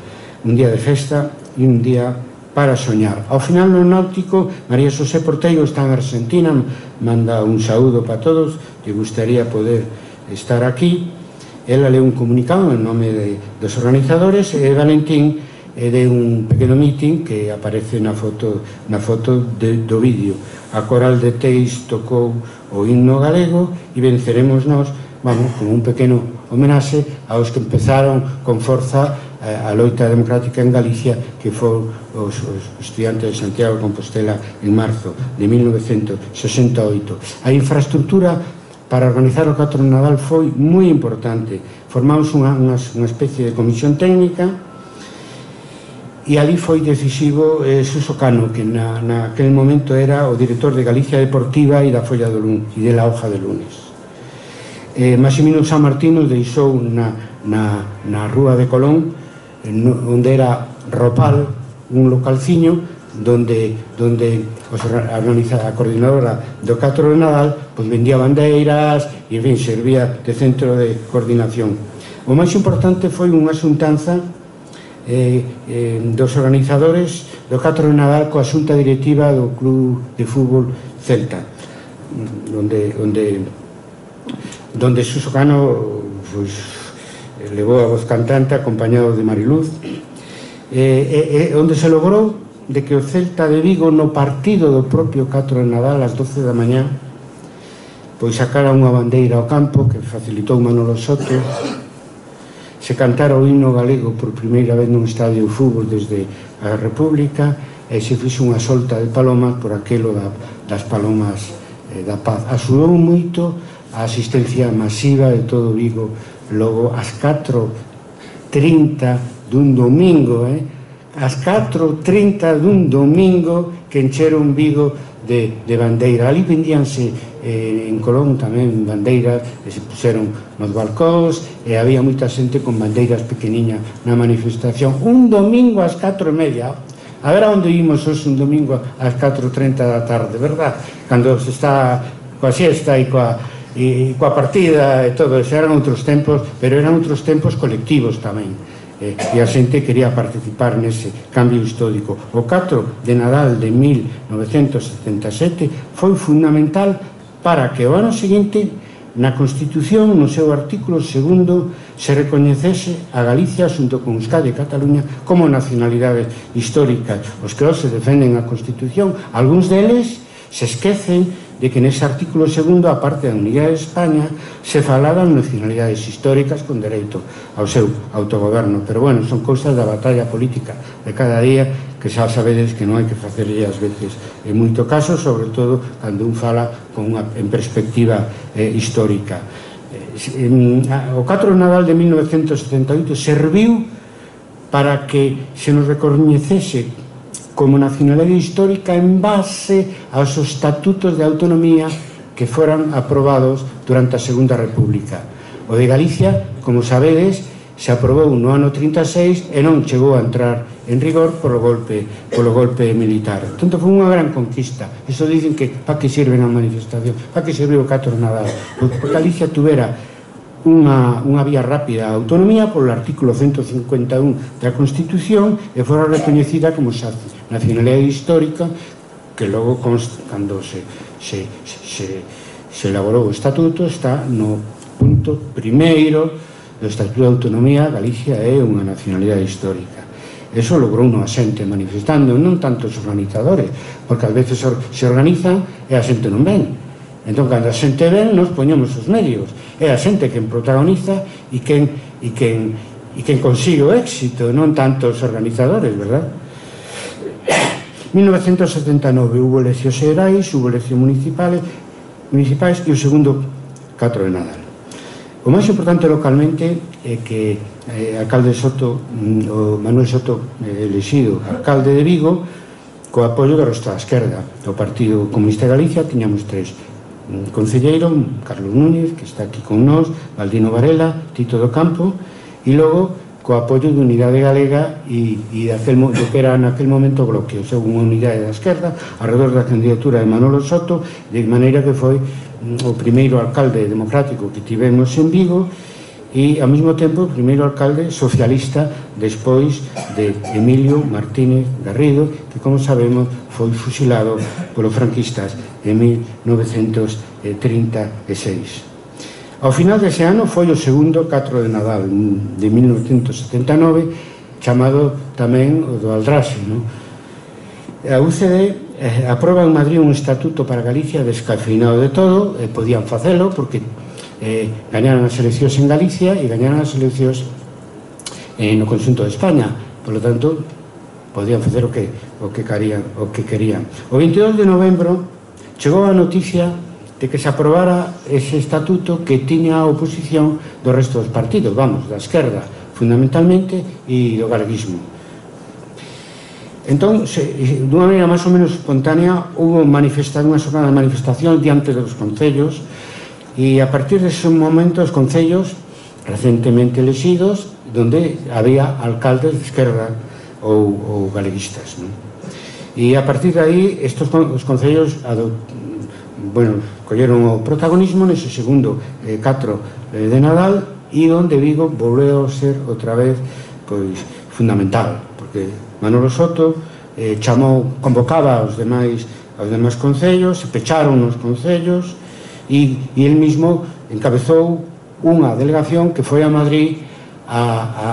Un día de festa e un día para soñar. Ao final no Náutico, María Xosé Porteiro está en Argentina, manda un saúdo para todos, que gustaría poder estar aquí. Ela leu un comunicado en nome de, dos organizadores, e Valentín e de un pequeno meeting que aparece na foto, na foto de, do vídeo. A Coral de Teis tocou o himno galego e venceremos nós, vamos, como un pequeno homenaxe aos que empezaron con forza a, a loita democrática en Galicia, que foron os, os estudiantes de Santiago de Compostela en marzo de mil novecentos sesenta e oito. A infraestructura para organizar o catro de Nadal foi moi importante. Formamos unha, unha, unha especie de comisión técnica e ali foi decisivo eh, Suso Cano, que na, naquele momento era o director de Galicia Deportiva e da Folla do Lunes e de la Hoja de Lunes. Eh, Maximino San Martín nos deixou na, na, na Rúa de Colón, eh, no, onde era Ropal, un localciño donde, donde os, a, a coordinadora do catro de Nadal pues, vendía bandeiras e, en fin, servía de centro de coordinación. O máis importante foi unha xuntanza Eh, eh, dos organizadores do catro de Nadal coa xunta directiva do Club de Fútbol Celta, onde onde, onde Suso Cano pues, levou a voz cantante acompañado de Mariluz, eh, eh, onde se logrou de que o Celta de Vigo, no partido do propio catro de Nadal ás doce da mañá, pois sacara unha bandeira ao campo que facilitou Manolo Soto, se cantara o himno galego por primeira vez nun estadio de fútbol desde a República, e se fixe unha solta de palomas por aquelo da, das palomas eh, da paz. Axudou moito a asistencia masiva de todo Vigo. Logo, ás catro e trinta dun domingo, eh? ás catro e trinta dun domingo, que encheron Vigo de, de bandeira. Ali vendíanse eh, en Colón tamén bandeiras que se puseron nos balcóns, e había moita xente con bandeiras pequeniñas na manifestación. Un domingo ás catro e media. A ver a onde imos hoxe un domingo ás catro e trinta da tarde, verdad? Cando se está coa siesta e coa, e, e coa partida e todo eso. Eran outros tempos, pero eran outros tempos colectivos tamén. Eh, e a xente quería participar nese cambio histórico. O catro de Nadal de mil novecentos setenta e sete foi fundamental para que o ano seguinte na Constitución, no seu artículo segundo, se recoñecese a Galicia xunto con Euskadi e Cataluña como nacionalidades históricas. Os que hoxe defenden a Constitución, algúns deles se esquecen de que nese artículo segundo, a parte da unidade de España, se falaban nacionalidades históricas con dereito ao seu autogoberno. Pero, bueno, son cousas da batalla política de cada día, que xa sabedes que non hai que facerlle ás veces en moito caso, sobre todo cando un fala con unha, en perspectiva eh, histórica. Eh, o catro de Nadal de mil novecentos setenta e oito serviu para que se nos recoñecese como nacionalidade histórica en base aos estatutos de autonomía que foran aprobados durante a Segunda República. O de Galicia, como sabedes, se aprobou no ano trinta e seis e non chegou a entrar en rigor polo golpe, polo golpe militar. Tanto foi unha gran conquista. Eso dicen que para que sirve a manifestación, para que sirve o catro de Nadal. Porque Galicia tuvera Unha, unha vía rápida a autonomía polo artículo ciento cincuenta e un da Constitución e fora recoñecida como nacionalidade histórica, que logo, cando se, se, se, se elaborou o estatuto, está no punto primeiro do Estatuto de Autonomía. Galicia é unha nacionalidade histórica. Eso logrou unha xente manifestando, non tanto os organizadores, porque ás veces se organizan e a xente non ven. Entón, cando a xente ven, nos poñemos os medios. É a xente quen protagoniza e quen, e quen, e quen consigue o éxito, non tanto os organizadores, verdad? mil novecentos setenta e nove hubo eleccións xerais, hubo eleccións municipales, municipais e o segundo catro de Nadal. O máis importante localmente é que eh, alcalde Soto, o Manuel Soto, eh, elexido alcalde de Vigo, co apoio do resto da esquerda. O Partido Comunista de Galicia tiñamos tres: un concelleiro, Carlos Núñez, que está aquí con nós, Baldino Varela, Tito do Campo, e logo co apoio de Unidade Galega e, e aquel, do que era naquel momento o Bloque, ou sea, unha unidade da esquerda alrededor da candidatura de Manolo Soto, de maneira que foi o primeiro alcalde democrático que tivemos en Vigo e, ao mesmo tempo, o primeiro alcalde socialista despois de Emilio Martínez Garrido, que, como sabemos, foi fusilado polos franquistas en mil novecentos trinta e seis. Ao final dese ano foi o segundo catro de Nadal de mil novecentos setenta e nove, chamado tamén o do Aldraxe, non? A U C D eh, aproba en Madrid un estatuto para Galicia descafeinado de todo, e podían facelo porque eh, gañaron as eleccións en Galicia e gañaron as eleccións eh, no conxunto de España. Por lo tanto, podían facer o que, o que querían, o que querían. O veintidós de novembro chegou a noticia de que se aprobara ese estatuto que tiña a oposición do resto dos partidos, vamos, da esquerda, fundamentalmente, e do galeguismo. Entón, se, dunha maneira máis ou menos espontánea, hubo manifestación, unha xornada de manifestación diante dos concellos, e a partir dese momento os concellos recentemente elexidos, donde había alcaldes de esquerda ou, ou galeguistas, non? E a partir de aí, estos os concellos ado, bueno, colleron o protagonismo nese segundo eh, catro eh, de Nadal, e onde Vigo volveu ser outra vez pois fundamental, porque Manolo Soto eh, chamou, convocaba aos demais aos demais concellos, se pecharon os concellos e, e el mismo encabezou unha delegación que foi a Madrid a, a,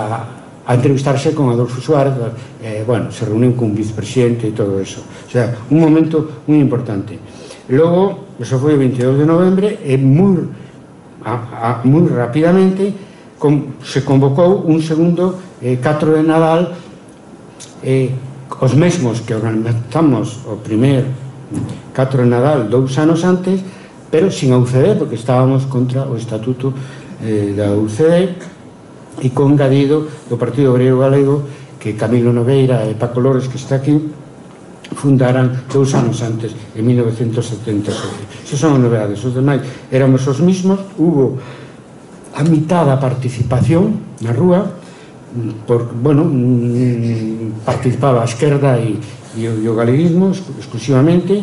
a entrevistarse con Adolfo Suárez, eh, bueno, se reuniu con un vicepresidente e todo eso, o sea, un momento moi importante. Logo, eso foi o veintidós de novembro e moi, a, a, moi rapidamente com, se convocou un segundo eh, catro de Nadal, eh, os mesmos que organizamos o primer catro de Nadal dous anos antes, pero sin a U C D, porque estábamos contra o estatuto eh, da U C D, e con engadido do Partido Obrero Galego, que Camilo Nogueira e Paco Lores, que está aquí, fundaran dous anos antes, en mil novecentos setenta e sete. Esas son as novedades. Os demais éramos os mismos. Hubo a mitad da participación na rúa, por, bueno, participaba a esquerda e, e o galeguismo exclusivamente,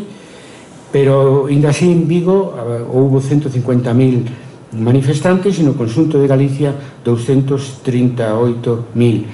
pero ainda así en Vigo houve ciento cincuenta mil manifestantes e no conxunto de Galicia doscientos trinta e oito mil.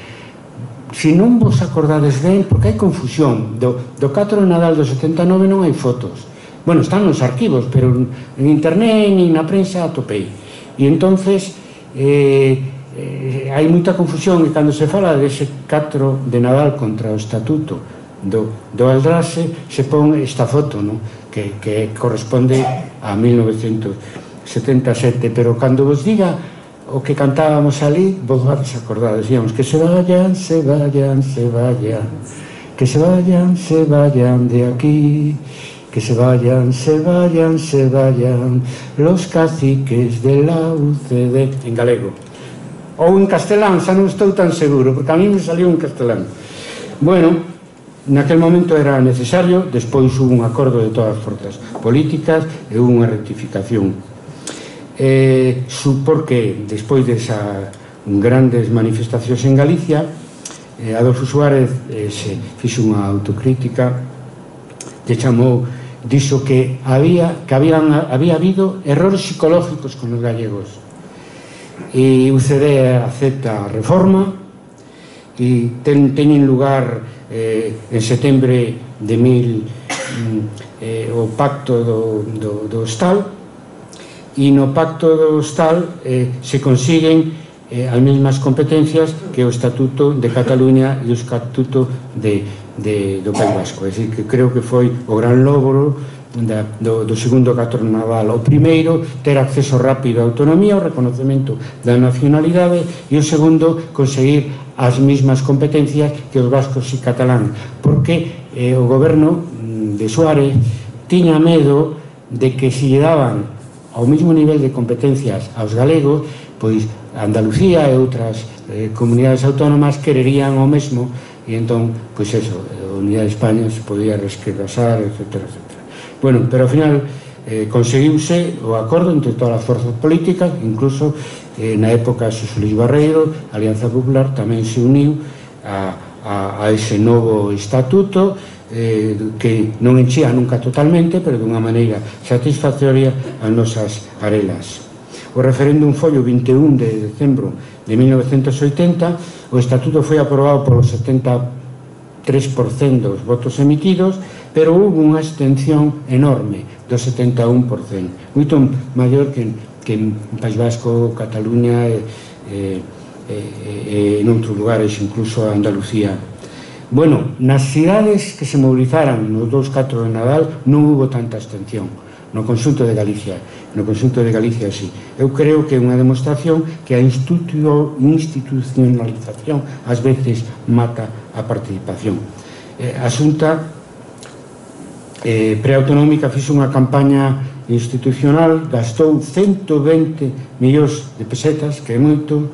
Se non vos acordades ben, porque hai confusión, do, do catro de Nadal do setenta e nove non hai fotos. Bueno, están nos arquivos, pero en internet e na prensa atopei. E entonces eh, eh, hai moita confusión, e cando se fala dese catro de Nadal contra o estatuto do, do Aldraxe se pon esta foto, no? que, que corresponde a mil novecentos setenta e sete, pero cando vos diga o que cantábamos ali, vos vais acordar, decíamos que se vayan, se vayan, se vayan, que se vayan, se vayan de aquí, que se vayan, se vayan, se vayan los caciques de la U C D, en galego. Ou en castelán, xa non estou tan seguro, porque a mí me salió en castelán. Bueno, naquel momento era necesario, despois hubo un acordo de todas as forzas políticas e hubo unha rectificación. Eh, supor que, despois desas grandes manifestacións en Galicia, eh, Adolfo Suárez eh, se fixo unha autocrítica, lle chamou, dixo que había, que habían, había habido errores psicológicos con os gallegos, e U C D acepta a reforma e ten, teñen lugar eh, en setembro de mil eh, o pacto do, do, do Hostal, e no pacto do Hostal eh, se consiguen eh, as mesmas competencias que o Estatuto de Cataluña e o Estatuto de, de, do País Vasco. É dicir, que creo que foi o gran logro da, do, do segundo Carnaval. O primeiro, ter acceso rápido á autonomía, o reconocemento da nacionalidade, e o segundo, conseguir as mesmas competencias que os vascos e catalán, porque eh, o goberno de Suárez tiña medo de que se lle daban ao mesmo nivel de competencias aos galegos, pois Andalucía e outras eh, comunidades autónomas quererían o mesmo, e entón, pois eso, a unidade de España se podía resquebrasar, etcétera, etcétera. Bueno, pero ao final eh, conseguiuse o acordo entre todas as forzas políticas, incluso eh, na época de Xosé Luís Barreiro, a Alianza Popular tamén se uniu a, a, a ese novo estatuto, eh, que non enchía nunca totalmente, pero dunha maneira satisfactoria as nosas arelas. O referéndum foi o vinte e un de decembro de mil novecentos oitenta, o estatuto foi aprobado polo setenta e tres por cento dos votos emitidos, pero houve unha abstención enorme do setenta e un por cento, moito maior que, que en País Vasco, Cataluña e, e, e, e en outros lugares, incluso Andalucía. Bueno, nas cidades que se movilizaran nos dous catro de Nadal non hubo tanta abstención. No conxunto de Galicia, no conxunto de Galicia sí. Eu creo que é unha demostración que a institucionalización ás veces mata a participación. Eh, a Xunta eh, preautonómica fixo unha campaña institucional, gastou ciento vinte millóns de pesetas, que é moito,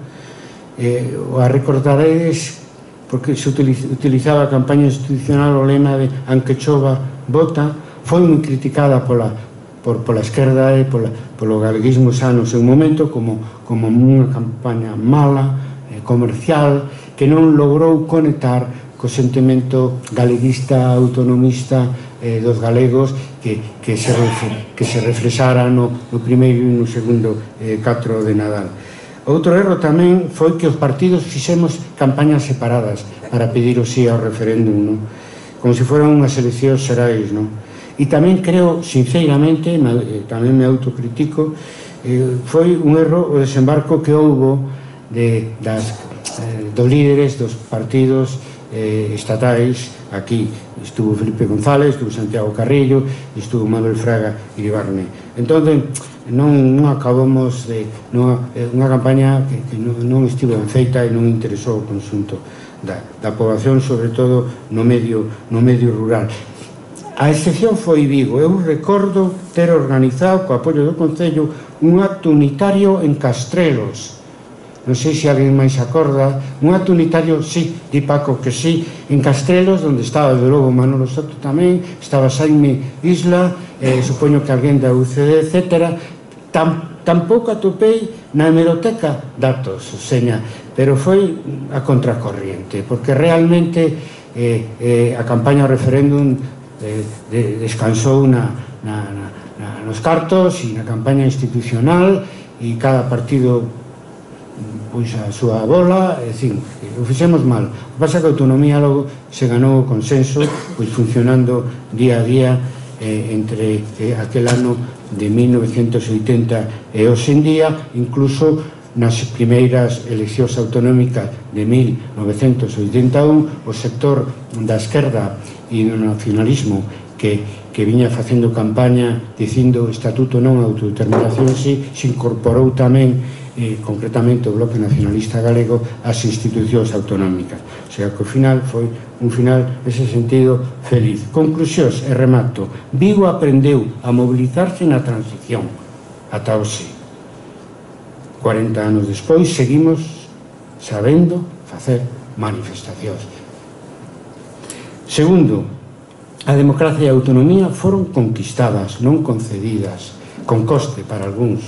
eh, a recordaredes porque se utilizaba a campaña institucional o lema de "Anque chova, vota", foi moi criticada pola Por, pola esquerda e pola, polo galeguismo xa no seu momento como, como unha campaña mala, eh, comercial, que non logrou conectar co sentimento galeguista, autonomista eh, dos galegos que, que, se, que se reflexara no, no primeiro e no segundo eh, catro de Nadal. Outro erro tamén foi que os partidos fixemos campañas separadas para pedir o sí ao referéndum, no? Como se foran unhas eleccións xerais, non? E tamén creo, sinceramente, tamén me autocritico, eh, foi un erro o desembarco que houbo de, das, eh, dos líderes dos partidos eh, estatais. Aquí estuvo Felipe González, estuvo Santiago Carrillo, estuvo Manuel Fraga Iribarne. Entón, non, non acabamos de... Non, unha campaña que, que non, non estivo ben feita e non interesou o conxunto da, da población, sobre todo no medio, no medio rural. A excepción foi Vigo. Eu recordo ter organizado, co apoio do Concello, un acto unitario en Castrelos. Non sei se alguén máis acorda. Un acto unitario, sí, di Paco que sí, en Castrelos, onde estaba, de logo, Manolo Soto tamén, estaba Xaime Isla, eh, supoño que alguén da U C D, etcétera. Tam, tampouco atopei na hemeroteca datos, seña, pero foi a contracorriente, porque realmente eh, eh, a campaña ao referéndum De, de, descansou na, na, na, na, nos cartos e na campaña institucional, e cada partido pois a súa bola, é dicir, o fixemos mal. O que pasa é que a autonomía logo se ganou o consenso, pois funcionando día a día eh, entre eh, aquel ano de mil novecentos oitenta e hoxe en día, incluso nas primeiras eleccións autonómicas de mil novecentos oitenta e un, o sector da esquerda e do nacionalismo que, que viña facendo campaña dicindo estatuto non, autodeterminación sí, se incorporou tamén eh, concretamente o Bloque Nacionalista Galego ás institucións autonómicas. O sea que o final foi un final, nese sentido, feliz. Conclusións e remato. Vigo aprendeu a mobilizarse na transición ata hoxe. cuarenta anos despois seguimos sabendo facer manifestacións. Segundo, a democracia e a autonomía foron conquistadas, non concedidas, con coste para algúns,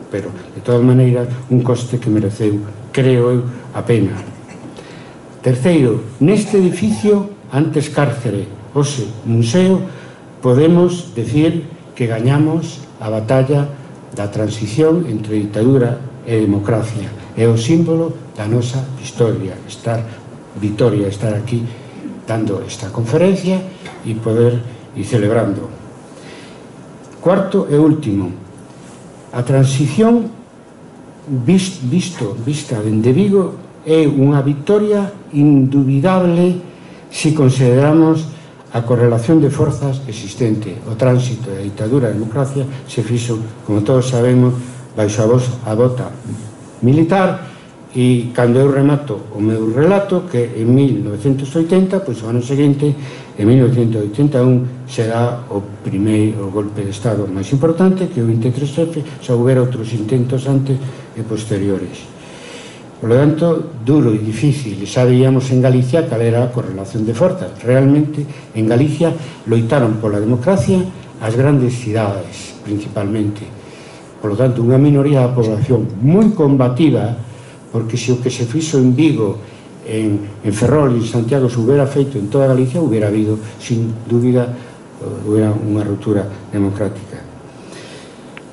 pero, de todas maneiras, un coste que mereceu, creo eu, a pena. Terceiro, neste edificio, antes cárcere, hoxe museo, podemos decir que gañamos a batalla da transición entre ditadura e democracia. É o símbolo da nosa historia, estar vitoria, estar aquí dando esta conferencia e poder ir celebrando. Cuarto e último, a transición visto, vista dende Vigo é unha victoria indubidable se consideramos a correlación de forzas existente. O tránsito da ditadura a democracia se fixo, como todos sabemos, baixo a, voz, a bota militar. E cando eu remato o meu relato, que en mil novecentos oitenta, pois o ano seguinte, en mil novecentos oitenta e un, será o primeiro golpe de Estado máis importante, que o vinte e tres F, xa houbera outros intentos antes e posteriores. Por lo tanto, duro e difícil. Xa veíamos en Galicia cal era a correlación de forzas. Realmente, en Galicia loitaron pola democracia as grandes cidades, principalmente. Por lo tanto, unha minoría da población moi combativa, porque se o que se fixo en Vigo, en, en Ferrol e en Santiago se hubiera feito en toda Galicia, hubiera habido, sin dúbida, hubiera unha ruptura democrática.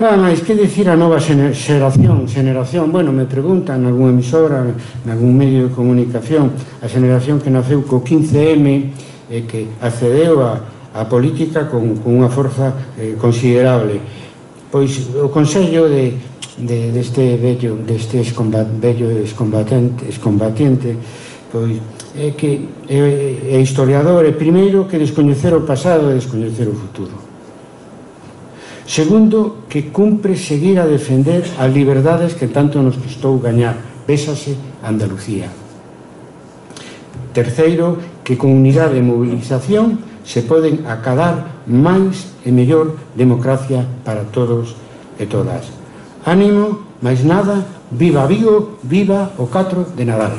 Nada máis, que dicir a nova xeración? Xeración, bueno, me preguntan en algún emisora, en algún medio de comunicación, a xeración que naceu co quince eme e que accedeu a, a política con, con unha forza eh, considerable. Pois o Consello de de deste vello, deste vello excombatiente, excombatiente pois é que é, é historiador, é primeiro que descoñecer o pasado e descoñecer o futuro. Segundo, que cumpre seguir a defender as liberdades que tanto nos custou gañar, vésase Andalucía. Terceiro, que con unidade e movilización se poden acadar máis e mellor democracia para todos e todas. Ánimo, máis nada, viva Vigo, viva o catro de Nadal.